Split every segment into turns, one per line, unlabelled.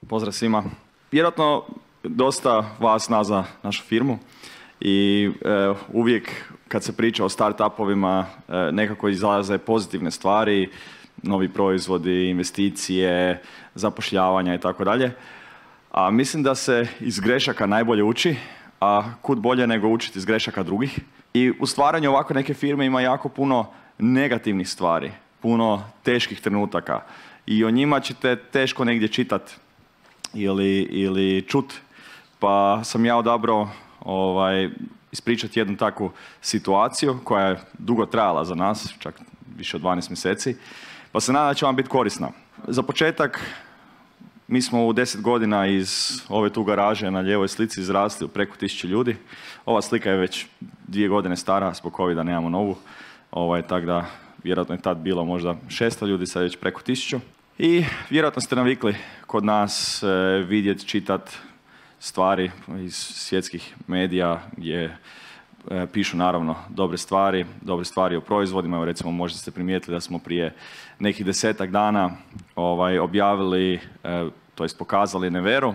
Pozdrav svima. Vjerojatno dosta vas zna našu firmu i uvijek kad se priča o start-upovima nekako izlaze pozitivne stvari, novi proizvodi, investicije, zapošljavanja i tako dalje. A mislim da se iz grešaka najbolje uči, a kud bolje nego učiti iz grešaka drugih. I u stvaranju ovako neke firme ima jako puno negativnih stvari, puno teških trenutaka i o njima ćete teško negdje čitati ili čut. Pa sam ja odabrao ispričati jednu takvu situaciju koja je dugo trajala za nas, čak više od 12 mjeseci, pa se nadam da će vam biti korisna. Za početak, mi smo u 10 godina iz ove tu garaže na lijevoj slici izrasli u preko 1000 ljudi. Ova slika je već 2 godine stara, zbog covida nemamo novu, tako da vjerojatno je tad bilo možda 600 ljudi, sad je već preko 1000. I vjerojatno ste navikli kod nas vidjeti, čitati stvari iz svjetskih medija gdje pišu naravno dobre stvari o proizvodima. Evo recimo možda ste primijetili da smo prije nekih 10-ak dana objavili, to jest pokazali Nevero,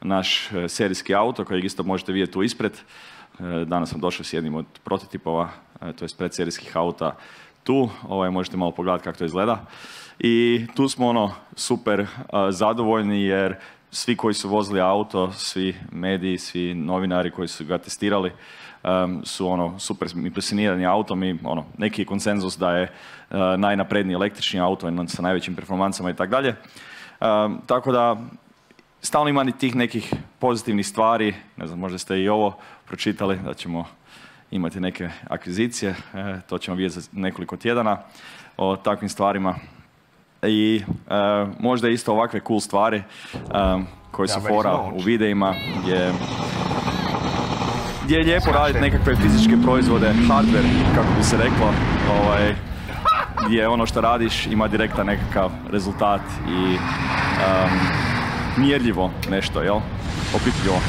naš serijski auto kojeg isto možete vidjeti tu ispred. Danas sam došao s jednim od prototipova, to jest predserijskih auta tu. Možete malo pogledati kako to izgleda. I tu smo super zadovoljni jer svi koji su vozili auto, svi mediji, svi novinari koji su ga testirali su super impresionirani autom i neki konsenzus da je najnapredniji električni auto sa najvećim performansama i tako dalje. Tako da stalno ima tih nekih pozitivnih stvari, ne znam, možda ste i ovo pročitali, da ćemo imati neke akvizicije, to ćemo vidjeti za nekoliko tjedana o takvim stvarima. I možda isto ovakve cool stvari koje su fora u videima gdje je lijepo raditi nekakve fizičke proizvode, hardware, kako bi se reklo, gdje ono što radiš ima direktan nekakav rezultat i mjerljivo nešto, jel? Opipljivo.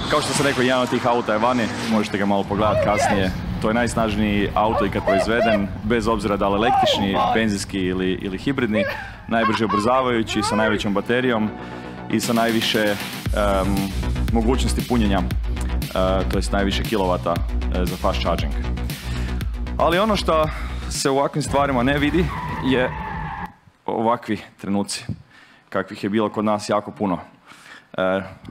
Kao što sam rekao, jedan od tih auta je vani, možete ga malo pogledati kasnije. To je najsnažniji auto ikad proizveden, bez obzira da li električni, benzinski ili hibridni, najbrže ubrzavajući, sa najvećom baterijom i sa najviše mogućnosti punjenja, to jest najviše kilovata za fast charging. Ali ono što se u ovakvim stvarima ne vidi je ovakvi trenuci, kakvih je bilo kod nas jako puno.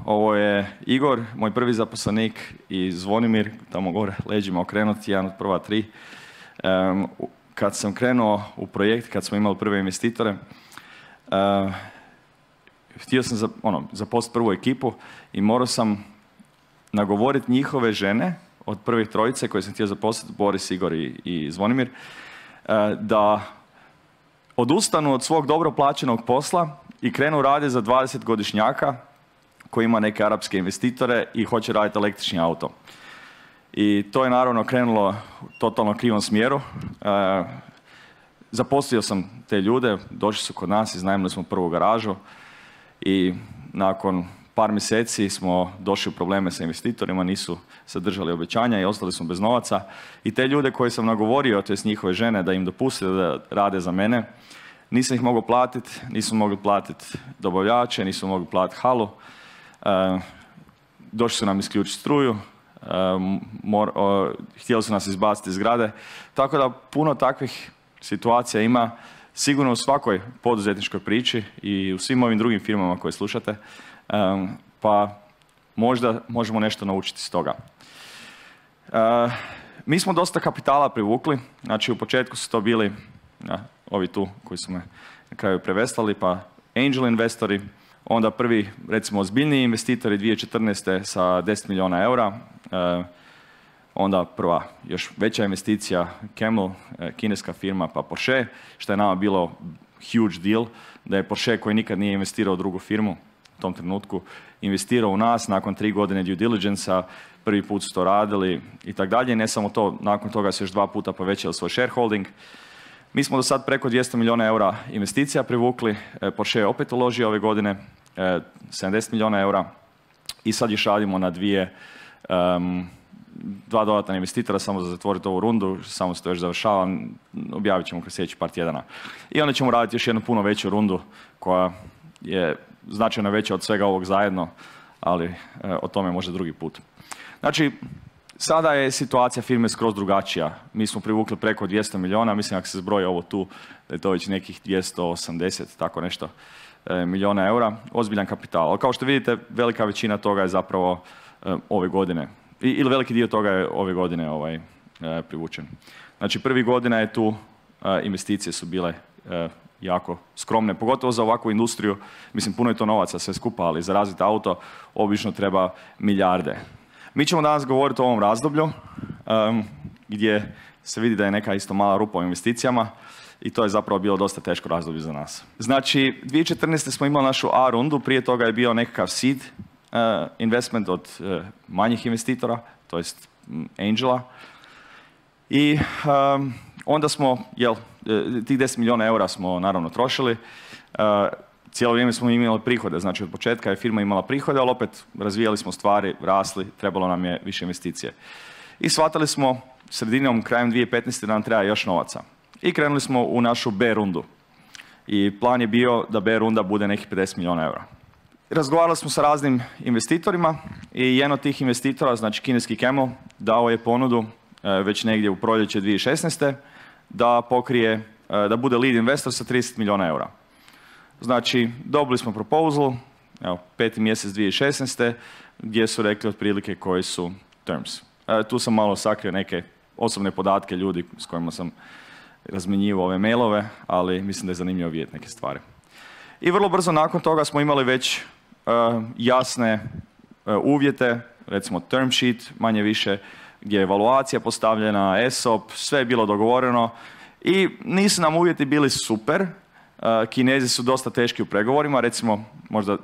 Ovo je Igor, moj prvi zaposlenik, i Zvonimir, tamo gore leđima okrenuti, jedan od prva 3. Kad sam krenuo u projekt, kad smo imali prve investitore, htio sam zaposliti prvu ekipu i morao sam nagovoriti njihove žene od prvih 3 koje sam htio zaposliti, Boris, Igor i Zvonimir, da odustanu od svog dobro plaćenog posla i krenu raditi za 20-godišnjaka koji ima neke arapske investitore i hoće raditi električni auto. I to je naravno krenulo u totalno krivom smjeru. Zaposlio sam te ljude, došli su kod nas, iznajmili smo prvu garažu i nakon par mjeseci smo došli u probleme sa investitorima, nisu sadržali obećanja i ostali smo bez novaca. I te ljude koje sam nagovorio, to jest njihove žene, da im dopuste da rade za mene, nisam ih mogao platiti, nisu mogli platiti dobavljače, nisu mogli platiti halu. Došli su nam isključiti struju, htjeli su nas izbaciti iz zgrade. Tako da puno takvih situacija ima sigurno u svakoj poduzetničkoj priči i u svim ovim drugim firmama koje slušate, pa možda možemo nešto naučiti iz toga. Mi smo dosta kapitala privukli, znači u početku su to bili ovi tu koji su me na kraju preveslali, pa angel investori, onda prvi, recimo, ozbiljniji investitori 2014. sa 10 milijuna eura, onda prva još veća investicija Camel, kineska firma, pa Porsche, što je nama bilo huge deal, da je Porsche, koji nikad nije investirao u drugu firmu u tom trenutku, investirao u nas nakon 3 godine due diligence-a, prvi put su to radili i tako dalje. Ne samo to, nakon toga su još 2 puta povećali svoj shareholding. Mi smo do sad preko 200 milijuna eura investicija privukli, Porsche je opet uložio ove godine 70 milijuna eura i sad još radimo na 2 dodatna investitora samo za zatvoriti ovu rundu, samo se to još završava, objavit ćemo kroz sljedeći par tjedana. I onda ćemo raditi još jednu puno veću rundu koja je značajno veća od svega ovog zajedno, ali o tome možda drugi put. Znači, sada je situacija firme skroz drugačija. Mi smo privukli preko 200 milijuna, mislim ako se zbroji ovo tu, da je to već nekih 280, tako nešto, milijuna eura, ozbiljan kapital. Ali kao što vidite, velika većina toga je zapravo ove godine, ili veliki dio toga je ove godine privučen. Znači, prvi godina je tu, investicije su bile jako skromne, pogotovo za ovakvu industriju. Mislim, puno je to novaca sve skupa, ali za razviti auto obično treba milijarde. Mi ćemo danas govoriti o ovom razdoblju gdje se vidi da je neka isto mala rupa u investicijama i to je zapravo bilo dosta teško razdoblje za nas. Znači, 2014. smo imali našu A rundu, prije toga je bio nekakav seed investment od manjih investitora, to jest angela. I onda smo, tih 10 milijuna eura smo naravno trošili. Cijelo vrijeme smo imali prihode, znači od početka je firma imala prihode, ali opet razvijali smo stvari, rasli, trebalo nam je više investicije. I shvatili smo sredinom, krajem 2015. da nam treba još novaca. I krenuli smo u našu B rundu. I plan je bio da B runda bude nekih 50 milijuna eura. Razgovarali smo sa raznim investitorima i jedan od tih investitora, znači kineski Camel, dao je ponudu već negdje u proljeće 2016. da pokrije, da bude lead investor sa 30 milijuna eura. Znači, dobili smo proposal, evo, 5. mjesec 2016. gdje su rekli otprilike koji su terms. Tu sam malo sakrio neke osobne podatke ljudi s kojima sam razmjenjivao ove mailove, ali mislim da je zanimljivo vidjeti neke stvari. I vrlo brzo nakon toga smo imali već jasne uvjete, recimo term sheet, manje više, gdje je evaluacija postavljena, ESOP, sve je bilo dogovoreno i nisu nam uvjeti bili super. Kinezi su dosta teški u pregovorima, recimo možda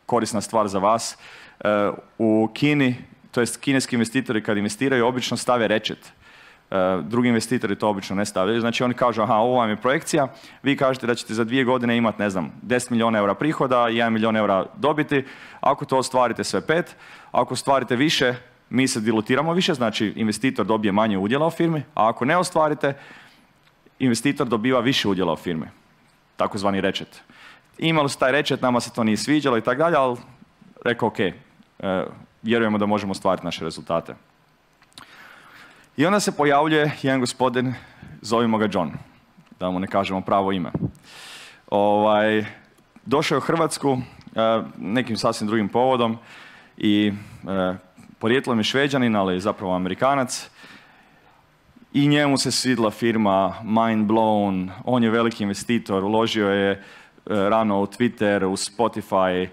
korisna stvar za vas, u Kini, to jest kineski investitori kad investiraju obično stave rečet. Drugi investitori to obično ne stavljaju, znači oni kažu aha, ovo vam je projekcija, vi kažete da ćete za 2 godine imati, ne znam, 10 milijuna eura prihoda i 1 milijun eura dobiti, ako to ostvarite sve 5, ako ostvarite više, mi se dilutiramo više, znači investitor dobije manje udjela u firmi, a ako ne ostvarite, investitor dobiva više udjela u firmi, takozvani rečet. Imali su taj rečet, nama se to nije sviđalo i tako dalje, ali rekao ok, vjerujemo da možemo ostvariti naše rezultate. I onda se pojavljuje jedan gospodin, zovimo ga John, da mu ne kažemo pravo ime. Došao je u Hrvatsku nekim sasvim drugim povodom i porijetlom je Šveđanin, ali zapravo Amerikanac. I njemu se svidla firma, mind blown, on je veliki investitor, uložio je rano u Twitter, u Spotify,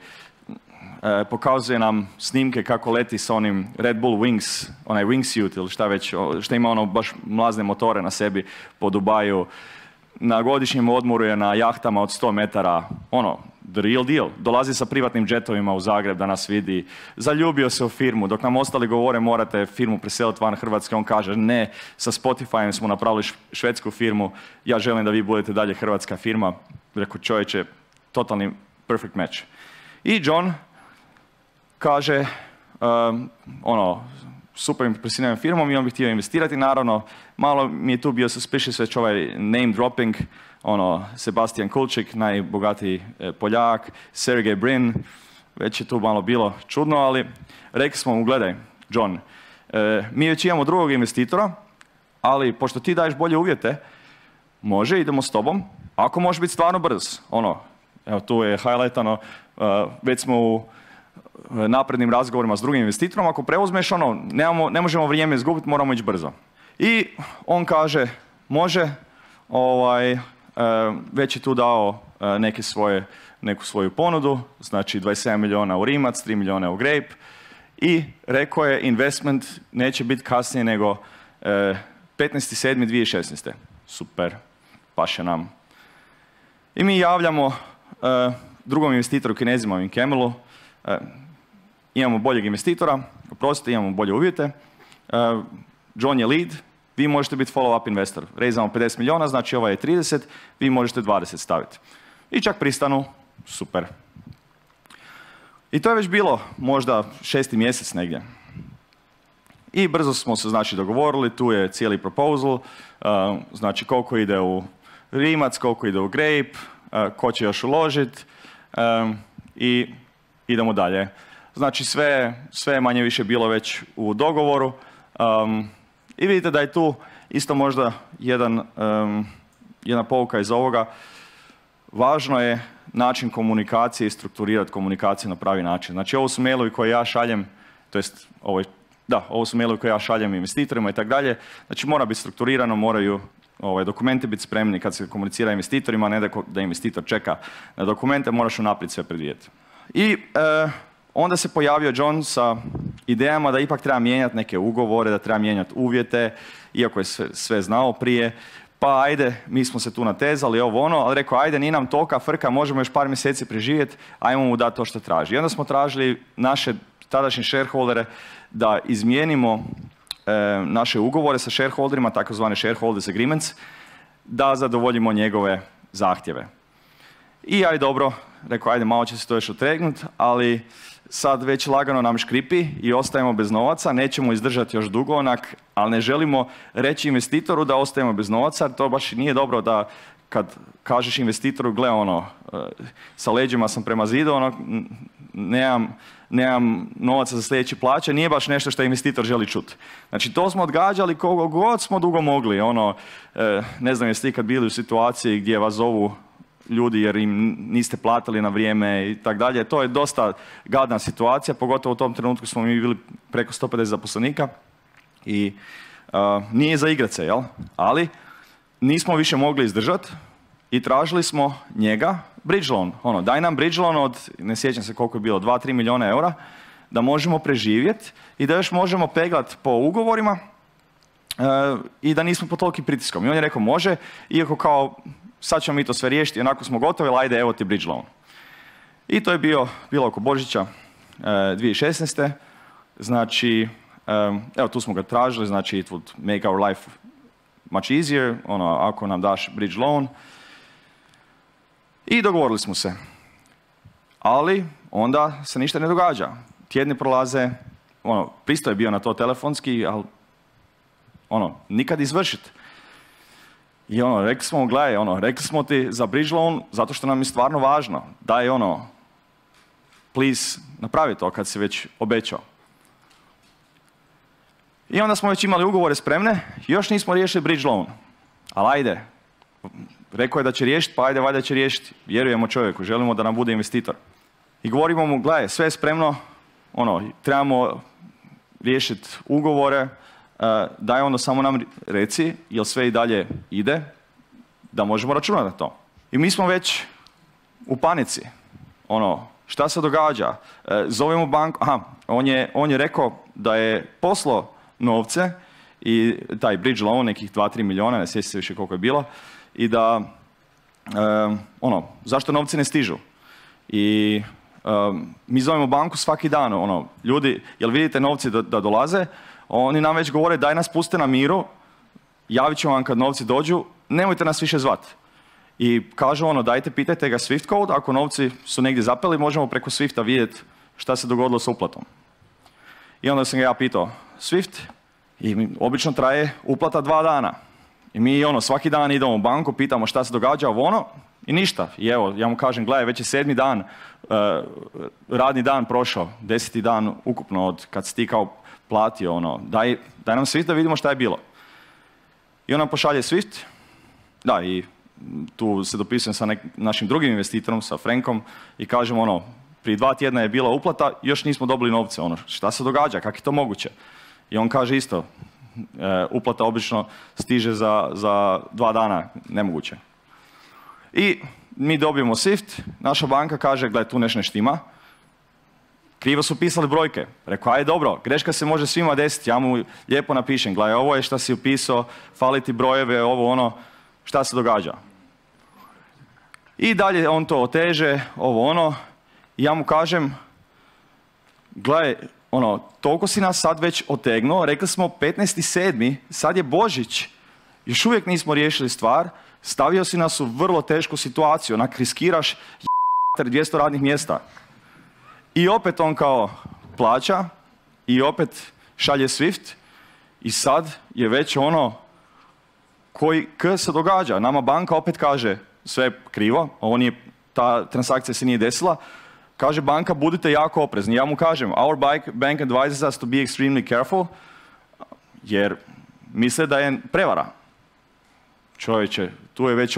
pokazuje nam snimke kako leti s onim Red Bull Wings, onaj wingsuit ili šta već, što ima ono baš mlazne motore na sebi po Dubaju. Na godišnjem odmoru je na jahtama od 100 metara, ono, the real deal. Dolazi sa privatnim džetovima u Zagreb da nas vidi. Zaljubio se u firmu. Dok nam ostali govore morate firmu preseliti van Hrvatske, on kaže ne, sa Spotifyem smo napravili švedsku firmu, ja želim da vi budete dalje hrvatska firma. Rekao čovječe, totalni perfect match. I John kaže, super impresivnom firmom i on bi htio investirati, naravno, malo mi je tu bio suspicious već ovaj name dropping, Sebastian Kulčik, najbogatiji Poljak, Sergey Brin, već je tu malo bilo čudno, ali rekli smo mu, gledaj, John, mi već imamo drugog investitora, ali pošto ti daješ bolje uvjete, može, idemo s tobom, ako može biti stvarno brz, evo tu je highlightano, već smo u naprednim razgovorima s drugim investitorom, ako preuzmeš ne možemo vrijeme izgubiti, moramo ići brzo. I on kaže, može, već je tu dao neku svoju ponudu, znači 27 milijuna u Rimac, 3 milijuna u Grape i rekao je investment neće biti kasnije nego 15.7.2016. Super, paše nam. I mi javljamo drugom investitoru Kinezima u Camelu, imamo boljeg investitora, oprostite, imamo bolje uvjete, John je lead, vi možete biti follow-up investor. Raizamo 50 milijuna, znači ovaj je 30, vi možete 20 staviti. I čak pristanu, super. I to je već bilo možda 6. mjesec negdje. I brzo smo se znači dogovorili, tu je cijeli proposal, znači koliko ide u Rimac, koliko ide u Grape, ko će još uložiti i idemo dalje. Znači sve je manje više bilo već u dogovoru i vidite da je tu isto možda jedna pouka iz ovoga. Važno je način komunikacije i strukturirati komunikaciju na pravi način. Znači ovo su mailovi koje ja šaljem, to jest ovo su mailovi koje ja šaljem investitorima i tako dalje. Znači mora biti strukturirano, moraju dokumenti biti spremni kad se komunicira investitorima, ne da investitor čeka na dokumente, moraš unaprijed sve predvidjeti. I onda se pojavio John sa idejama da ipak treba mijenjati neke ugovore, da treba mijenjati uvjete, iako je sve znao prije. Pa ajde, mi smo se tu natezali, ali rekao ajde, nije nam tolika frka, možemo još par mjeseci preživjeti, ajmo mu dati to što traži. I onda smo tražili naše tadašnje shareholdere da izmijenimo naše ugovore sa shareholderima, takozvane shareholders agreements, da zadovoljimo njegove zahtjeve. I ajde dobro, rekao ajde, malo će se to još otregnuti, ali sad već lagano nam škripi i ostajemo bez novaca, nećemo izdržati još dugo onak, ali ne želimo reći investitoru da ostajemo bez novaca, to baš nije dobro da kad kažeš investitoru, gle sa leđima sam prema zidu, nemam novaca za sljedeće plaće, nije baš nešto što investitor želi čuti. Znači to smo odgađali koliko god smo dugo mogli, ne znam jeste ikad bili u situaciji gdje vas zovu ljudi jer im niste platili na vrijeme i tako dalje. To je dosta gadna situacija, pogotovo u tom trenutku smo mi bili preko 150 zaposlenika i nije za igrat se, jel? Ali nismo više mogli izdržati i tražili smo njega bridge loan. Daj nam bridge loan od, ne sjećam se koliko je bilo, 2-3 milijuna eura, da možemo preživjeti i da još možemo peglati po ugovorima i da nismo pod tolikim pritiskom. I on je rekao može, iako kao sad ćemo mi to sve riješiti, onako smo gotovi, ali ajde, evo ti bridge loan. I to je bilo oko Božića 2016. Znači, evo tu smo ga tražili, znači it would make our life much easier, ako nam daš bridge loan. I dogovorili smo se. Ali onda se ništa ne događa. Tjedni prolaze, pristo je bio na to telefonski, ali nikad izvršiti. I rekli smo, gledaj, rekli smo ti za bridge loan zato što nam je stvarno važno. Daj please, napravi to kad si već obećao. I onda smo već imali ugovore spremne, još nismo riješili bridge loan. Ali ajde, rekao je da će riješiti, pa ajde, valjda će riješiti. Vjerujemo čovjeku, želimo da nam bude investitor. I govorimo mu, gledaj, sve je spremno, trebamo riješiti ugovore, daj samo nam reci, jel sve i dalje ide, da možemo računati na to. I mi smo već u panici. Šta se događa? Zovemo banku, on je rekao da je poslao novce i taj bridge loan, nekih 2-3 milijuna, ne sjećam se više koliko je bilo, i da, zašto novci ne stižu? I mi zovemo banku svaki dan, ljudi, jel vidite novci da dolaze? Oni nam već govore, daj nas puste na miru, javit ćemo vam kad novci dođu, nemojte nas više zvati. I kažu dajte, pitajte ga Swift code, ako novci su negdje zapeli, možemo preko Swifta vidjeti šta se dogodilo sa uplatom. I onda sam ga ja pitao, Swift, i obično traje uplata 2 dana. I mi svaki dan idemo u banku, pitamo šta se događa, i ništa. I evo, ja mu kažem, gledaj, već je 7. dan, radni dan prošao, 10. dan ukupno od kad si ti kao platio, daj nam Swift da vidimo šta je bilo. I on nam pošalje Swift, da, i tu se dopisujem sa našim drugim investitorom, sa Frankom, i kažem, prije 2 tjedna je bila uplata, još nismo dobili novce, šta se događa, kako je to moguće? I on kaže isto, uplata obično stiže za 2 dana, nemoguće. I mi dobijemo Swift, naša banka kaže, gledaj, tu nešto ne štima, krivo su pisali brojke. Rekao, ajde dobro, greška se može svima desiti, ja mu lijepo napišem, gledaj, ovo je šta si upisao, fali ti brojeve, šta se događa. I dalje on to oteže, i ja mu kažem, gledaj, toliko si nas sad već otegnuo, rekli smo 15.7., sad je Božić, još uvijek nismo riješili stvar, stavio si nas u vrlo tešku situaciju, riskiraš 200 radnih mjesta. I opet on kao plaća i opet šalje Swift I sad je već ono kaj se događa. Nama banka opet kaže sve je krivo, ta transakcija se nije desila. Kaže banka, budite jako oprezni. Ja mu kažem, our bank advises us to be extremely careful, jer misle da je prevara. Čovječe, tu je već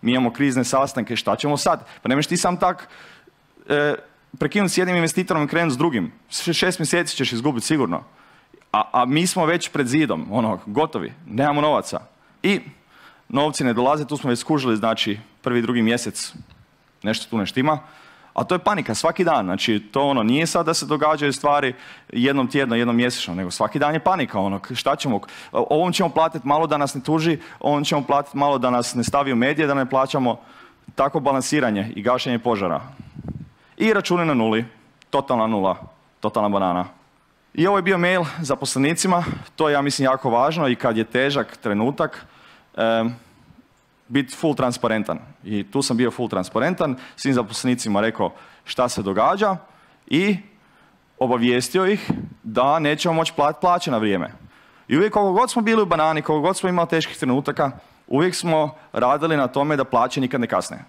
mi imamo krizne sastanke, šta ćemo sad? Pa nemaš ti sam tak prekinuti s jednim investitorom i krenuti s drugim. 6 mjeseci ćeš izgubiti sigurno. A mi smo već pred zidom, gotovi, nemamo novaca. I novci ne dolaze, tu smo već skužili, znači, prvi, drugi mjesec nešto tu ne štima. A to je panika svaki dan, znači to nije sad da se događaju stvari jednom tjedno, jednom mjesečno, nego svaki dan je panika, šta ćemo, ovom ćemo platiti malo da nas ne tuži, ovom ćemo platiti malo da nas ne stavi u medije, da ne plaćamo, tako balansiranje i gašenje požara. I računi na nuli, totalna nula, totalna banana. I ovo je bio mail zaposlenicima, to je ja mislim jako važno i kad je težak trenutak, biti full transparentan. I tu sam bio full transparentan, svim zaposlenicima rekao šta se događa i obavijestio ih da nećemo moći platiti plaće na vrijeme. I uvijek koliko god smo bili u banani, koliko god smo imali teških trenutaka, uvijek smo radili na tome da plaće nikad ne kasne.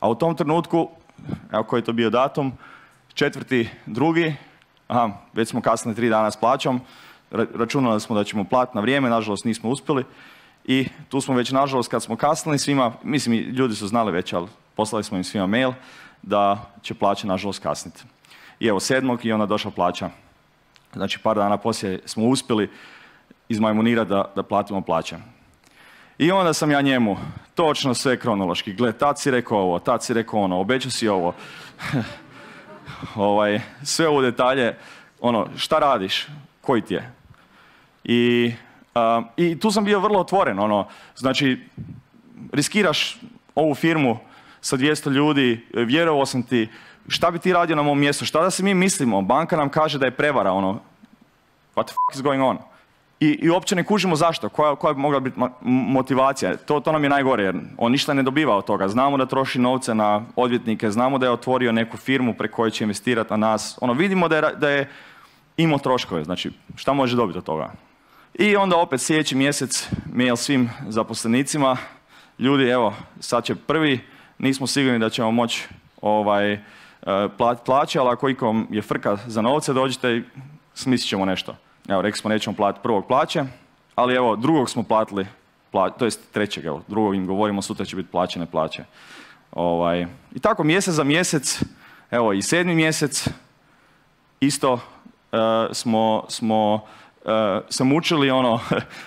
A u tom trenutku, evo koji je to bio datum, 4.2., već smo kasnili 3 dana s plaćom, računali smo da ćemo platiti na vrijeme, nažalost nismo uspjeli. I tu smo već, nažalost, kad smo kasnili svima, mislim, ljudi su znali već, ali poslali smo im svima mail da će plaća, nažalost, kasniti. I evo, 7. i onda došla plaća. Znači, par dana poslije smo uspjeli izmajmunirati da platimo plaće. I onda sam ja njemu točno sve kronološki, gled, tad si rekao ovo, tad si rekao ono, obećao si ovo. Sve u detalje, šta radiš, koji ti je. I tu sam bio vrlo otvoren, znači, riskiraš ovu firmu sa 200 ljudi, vjerovao sam ti, šta bi ti radio na mom mjestu, šta da se mi mislimo, banka nam kaže da je prevara, what the fuck is going on? I uopće ne kužimo zašto, koja bi mogla biti motivacija, to nam je najgore, jer on ništa ne dobiva od toga, znamo da troši novce na odvjetnike, znamo da je otvorio neku firmu preko koje će investirati na nas, vidimo da je imao troškove, znači, šta može dobiti od toga? I onda opet sljedeći mjesec mail svim zaposlenicima, ljudi, evo, sad će prvi, nismo sigurni da ćemo moći platiti plaće, ali ako ikom je frka za novce, dođite i smislit ćemo nešto. Evo, rekli smo nećemo platiti prvog plaće, ali evo, drugog smo platili, to jest trećeg, evo, drugog im govorimo, sutra će biti plaćene plaće. I tako mjesec za mjesec, evo i 7. mjesec, isto smo se mučili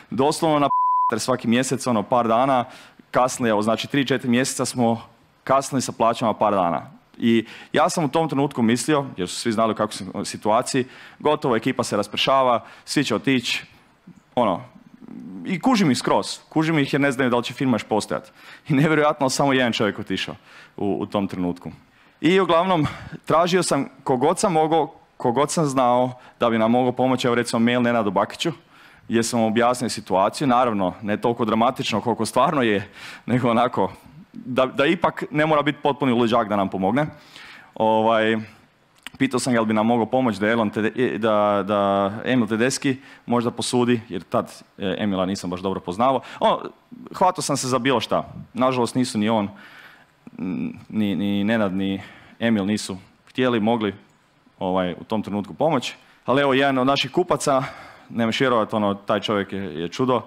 doslovno na svaki mjesec, par dana, kasnili, evo, znači 3-4 mjeseca smo kasnili sa plaćama par dana. I ja sam u tom trenutku mislio, jer su svi znali u kakvoj sam situaciji, gotovo, ekipa se raspršava, svi će otići, i kužim ih skroz, kužim ih jer ne znaju da li će firma još postojati. I nevjerojatno, samo jedan čovjek otišao u tom trenutku. I uglavnom, tražio sam kogod sam mogao, kogod sam znao da bi nam mogao pomoći, evo recimo mail Nenadu Bakiću, gdje sam objasnio situaciju, naravno ne toliko dramatično koliko stvarno je, nego onako, da ipak ne mora biti potpuni luđak da nam pomogne. Pitao sam ga li bi nam mogao pomoći da Emil Tedeschi možda posudi, jer tad Emila nisam baš dobro poznavao. Hvatao sam se za bilo šta. Nažalost nisu ni on, ni Nenad, ni Emil nisu htjeli, mogli u tom trenutku pomoći. Ali evo, jedan od naših kupaca, nemaš vjerovati, taj čovjek je čudo,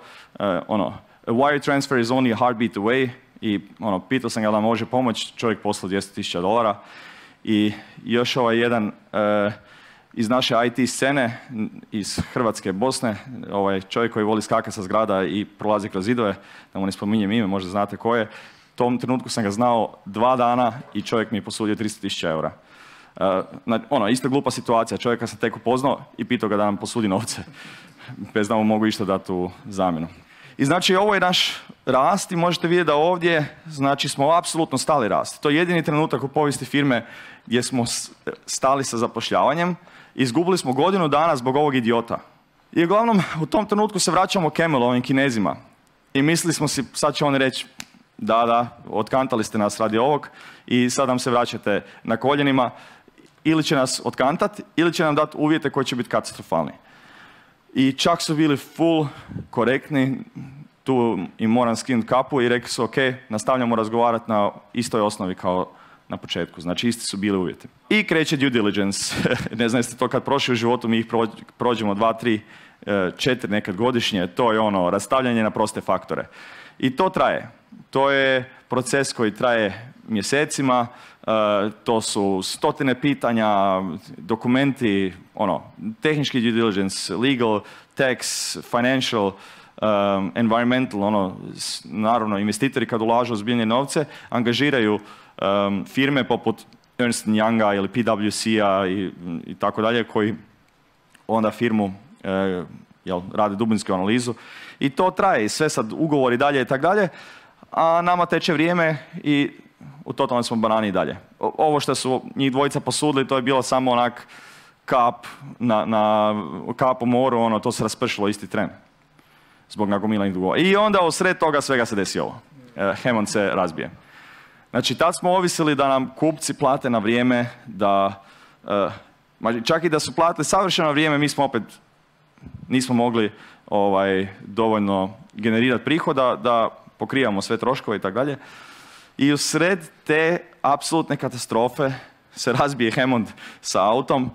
wire transfer is only a heartbeat away, i pitao sam ga da može pomoći, čovjek poslao $200,000. I još jedan iz naše IT scene, iz Hrvatske, Bosne, čovjek koji voli skakati sa zgrada i prolazi kroz zidove, da mu ne spominjem ime, možda znate ko je. U tom trenutku sam ga znao 2 dana i čovjek mi je posudio $300,000. Isto glupa situacija, čovjeka sam tek upoznao i pitao ga da nam posudi novce, bez da mu mogu išta dati u zamjenu. I znači ovo je naš rast i možete vidjeti da ovdje, znači, smo apsolutno stali rast. To je jedini trenutak u povijesti firme gdje smo stali sa zapošljavanjem. Izgubili smo godinu dana zbog ovog idiota. I uglavnom u tom trenutku se vraćamo Camelu, ovim Kinezima. I mislili smo si, sad će oni reći, da, otkantali ste nas radi ovog i sad nam se vraćate na koljenima. Ili će nas otkantati, ili će nam dati uvjete koji će biti katastrofalni. I čak su bili full korektni, tu im moram skinuti kapu i rekli su ok, nastavljamo razgovarati na istoj osnovi kao na početku. Znači isti su bili uvjeti. I kreće due diligence. Ne znam jeste to kad prošli u životu, mi ih prođemo 2, 3, 4 nekad godišnje. To je ono rastavljanje na proste faktore. I to traje. To je proces koji traje mjesecima. To su stotine pitanja, dokumenti, ono, tehnički due diligence, legal, tax, financial, environmental, ono, naravno investitori kad ulažu ozbiljne novce, angažiraju firme poput Ernst & Younga ili PwC-a i tako dalje, koji onda firmu rade dubinsku analizu. I to traje, i sve sad ugovori dalje i tako dalje, a nama teče vrijeme i u totalno smo banani i dalje. Ovo što su njih dvojica posudili, to je bilo samo onak kap kap u moru, ono, to se raspršilo isti tren. Zbog nagomilanih dugova. I onda usred toga svega se desi ovo. Hammond se razbije. Znači, tad smo ovisili da nam kupci plate na vrijeme, da čak i da su platili savršeno na vrijeme, mi smo opet nismo mogli dovoljno generirati prihoda da pokrivamo sve troškove i tako dalje. I usred te apsolutne katastrofe se razbije Hammond sa autom,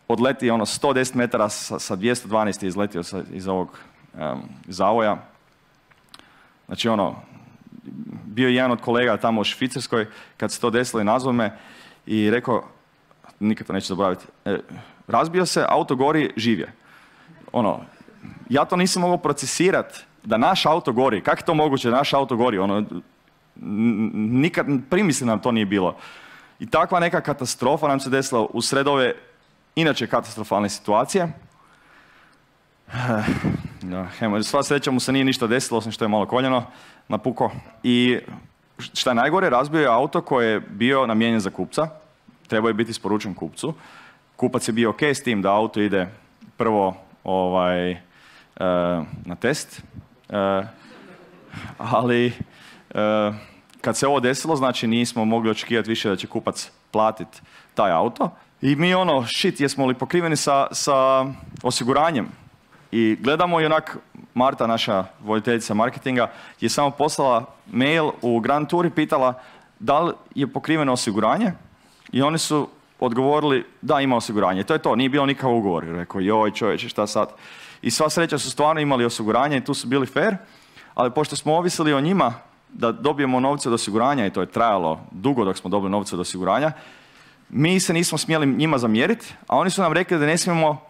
odleti ono 110 metara sa 212 je izletio iz ovog zavoja. Znači ono, bio je jedan od kolega tamo u Švicarskoj, kad se to desilo i nazvao me i rekao, nikad to neću zaboraviti, razbio se, auto gori, živ je. Ono, ja to nisam mogao procesirati da naš auto gori. Kako je to moguće da naš auto gori? Ono, nikad primisli nam to nije bilo. I takva neka katastrofa nam se desila usred ove inače katastrofalne situacije. Sva sreća mu se nije ništa desilo, osim što je malo koljeno napuko. I šta je najgore, razbio je auto koji je bio namijenjen za kupca. Trebao je biti isporučen kupcu. Kupac je bio ok s tim da auto ide prvo na test. Ali kad se ovo desilo, znači nismo mogli očekivati više da će kupac platiti taj auto. I mi ono, jesmo li pokriveni sa osiguranjem? I gledamo i onak, Marta, naša voditeljica marketinga, je samo poslala mail u Grand Tour i pitala da li je pokriveno osiguranje. I oni su odgovorili da ima osiguranje. To je to, nije bilo nikakav ugovor. Rekao, joj čovječe, šta sad? I sva sreća su stvarno imali osiguranje i tu su bili fair, ali pošto smo ovisili o njima da dobijemo novce od osiguranja, i to je trajalo dugo dok smo dobili novce od osiguranja, mi se nismo smjeli njima zamjeriti, a oni su nam rekli da ne smijemo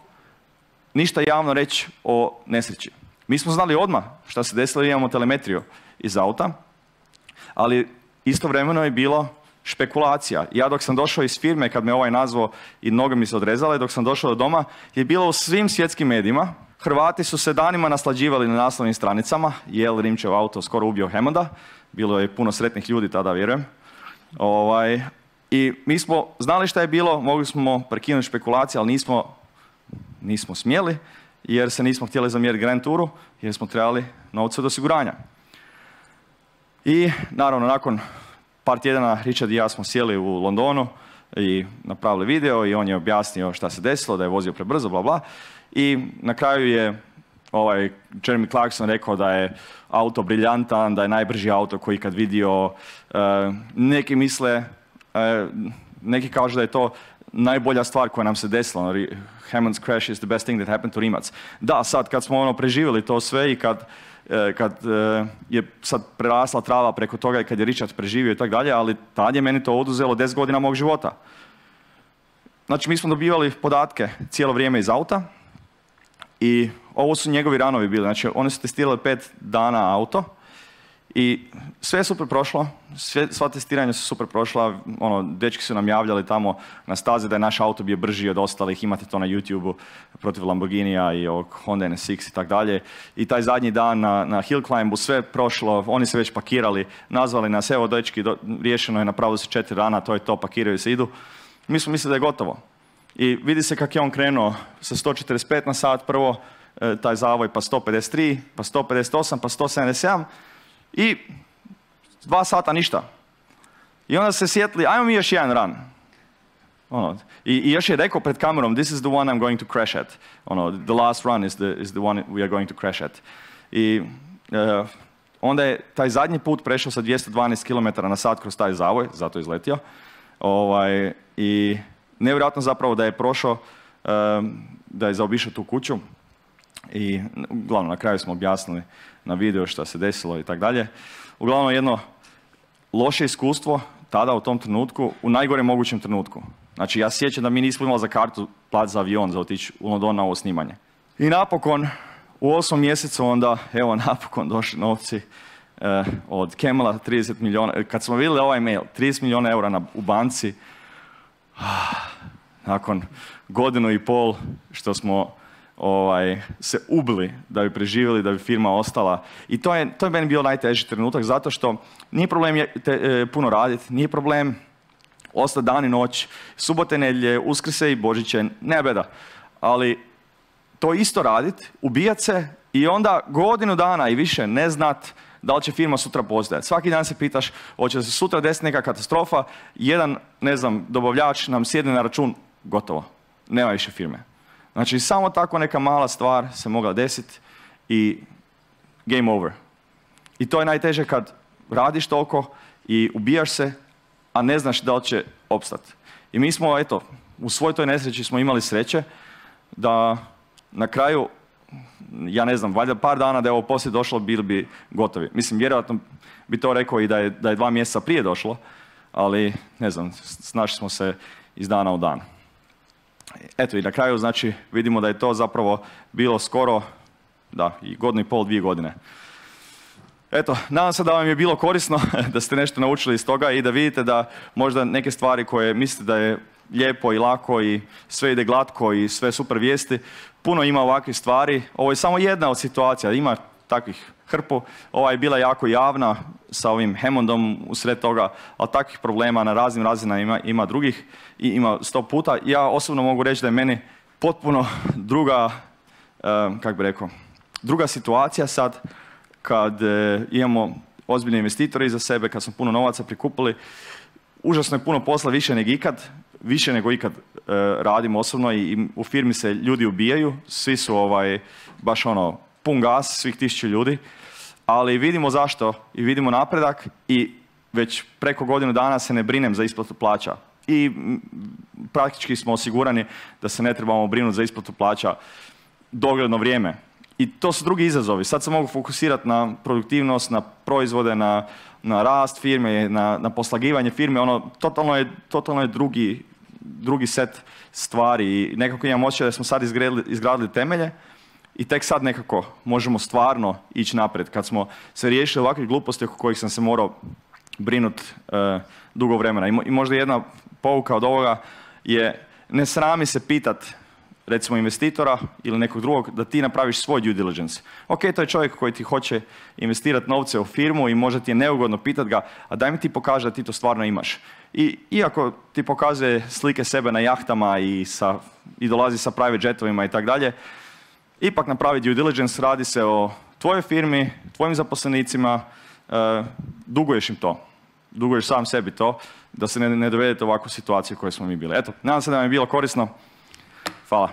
ništa javno reći o nesreći. Mi smo znali odmah šta se desilo, imamo telemetriju iz auta, ali istovremeno je bilo špekulacija. Ja dok sam došao iz firme, kad me ovaj nazvao i noge mi se odrezale, dok sam došao do doma, je bilo u svim svjetskim medijima. Hrvati su se danima naslađivali na naslovnim stranicama, jel Rimčev auto skoro ubio Hammonda, bilo je puno sretnih ljudi tada, vjerujem. I mi smo znali šta je bilo, mogli smo prekinuti špekulacije, ali nismo smjeli, jer se nismo htjeli zamjeriti Grand Touru, jer smo trebali novce od osiguranja. I naravno, nakon par tjedana Richard i ja smo sjeli u Londonu i napravili video i on je objasnio šta se desilo, da je vozio prebrzo, bla bla. I na kraju je Jeremy Clarkson rekao da je auto briljantan, da je najbrži auto koji kad vidio. Neki misle, neki kažu da je to najbolja stvar koja nam se desila. Hammond's crash is the best thing that happened to Rimac. Da, sad kad smo preživjeli to sve i kad je sad prerasla trava preko toga i kad je Richard preživio i tako dalje, ali tad je meni to oduzelo 10 godina mog života. Znači, mi smo dobivali podatke cijelo vrijeme iz auta i ovo su njegovi ranovi bili. Znači, oni su testirali 5 dana auto i sve je super prošlo, sva testiranja su super prošla, dečki su nam javljali tamo na stazi da je naš auto bio brži od ostalih, imate to na YouTube-u protiv Lamborghinija i ovog Honda NSX i tak dalje. I taj zadnji dan na Hill Climbu sve prošlo, oni se već pakirali, nazvali nas, evo dečki, riješeno je, napravili se 4 dana, to je to, pakiraju se, idu. Mi smo mislili da je gotovo. I vidi se kako je on krenuo sa 145 na sat prvo, taj zavoj, pa 153, pa 158, pa 177 i 2 sata ništa. I onda se sjetili, ajmo mi još jedan run. I još je rekao pred kamerom, this is the one I'm going to crash at. The last run is the one we are going to crash at. I onda je taj zadnji put prešao sa 212 km/h kroz taj zavoj, zato je izletio. I nevjerojatno zapravo da je prošao, da je zaobišao tu kuću. I uglavnom na kraju smo objasnili na video šta se desilo i tako dalje. Uglavnom jedno loše iskustvo tada u tom trenutku, u najgorem mogućem trenutku. Znači ja sjećam da mi nismo imali za kartu plat za avion za otići u London na ovo snimanje. I napokon u 8. mjesecu onda, evo napokon došli novci od Camela, 30 milijuna. Kad smo vidjeli ovaj mail, 30 milijuna eura u banci, nakon 1.5 godina što smo se ubili da bi preživjeli, da bi firma ostala. I to je meni bio najteži trenutak, zato što nije problem puno raditi, nije problem ostati dan i noć, subote, nedjelje, Uskrse i Božiće, ne beda. Ali to isto raditi, ubijat se i onda 1 godinu dana i više ne znat da li će firma sutra postojati. Svaki dan se pitaš, hoće se sutra desiti neka katastrofa, jedan, ne znam, dobavljač nam sjedne na račun, gotovo, nema više firme. Znači, samo tako neka mala stvar se mogla desiti i game over. I to je najteže kad radiš toliko i ubijaš se, a ne znaš da li će opstati. I mi smo, eto, u svoj toj nesreći smo imali sreće da na kraju, ja ne znam, valjda par dana da je ovo poslije došlo, bili bi gotovi. Mislim, vjerojatno bi to rekao i da je 2 mjeseca prije došlo, ali ne znam, snašli smo se iz dana u dan. Eto i na kraju, znači, vidimo da je to zapravo bilo skoro, da, i 1,5 godina, 2 godine. Eto, nadam se da vam je bilo korisno, da ste nešto naučili iz toga i da vidite da možda neke stvari koje mislite da je lijepo i lako i sve ide glatko i sve super vijesti, puno ima ovakvih stvari. Ovo je samo jedna od situacija, ima takvih hrpu. Ova je bila jako javna sa ovim Hammondom usred toga, ali takvih problema na raznim razinama ima drugih i ima 100 puta. Ja osobno mogu reći da je meni potpuno druga, druga situacija sad kad imamo ozbiljne investitore iza sebe, kad smo puno novaca prikupili. Užasno je puno posla, više nego ikad radimo osobno i u firmi se ljudi ubijaju, svi su baš pun gas, svih 1000 ljudi, ali vidimo zašto i vidimo napredak i već preko 1 godinu dana se ne brinem za isplatu plaća. I praktički smo osigurani da se ne trebamo brinuti za isplatu plaća dogledno vrijeme. I to su drugi izazovi. Sad se mogu fokusirati na produktivnost, na proizvode, na rast firme, na poslagivanje firme. Totalno je drugi set stvari i nekako imam osjećaj da smo sad izgradili temelje i tek sad nekako možemo stvarno ići naprijed. Kad smo se riješili ovakvih gluposti oko kojih sam se morao brinuti dugo vremena. I možda jedna pouka od ovoga je ne srami se pitat recimo investitora ili nekog drugog da ti napraviš svoj due diligence. Ok, to je čovjek koji ti hoće investirati novce u firmu i možda ti je neugodno pitat ga, a daj mi ti pokaži da ti to stvarno imaš. I iako ti pokazuje slike sebe na jahtama i dolazi sa private jetovima i tako dalje, ipak napravi due diligence, radi se o tvojoj firmi, tvojim zaposlenicima, duguješ im to. Duguješ sam sebi to, da se ne dovedete u ovakvu situaciju u kojoj smo mi bili. Eto, nadam se da vam je bilo korisno. Hvala.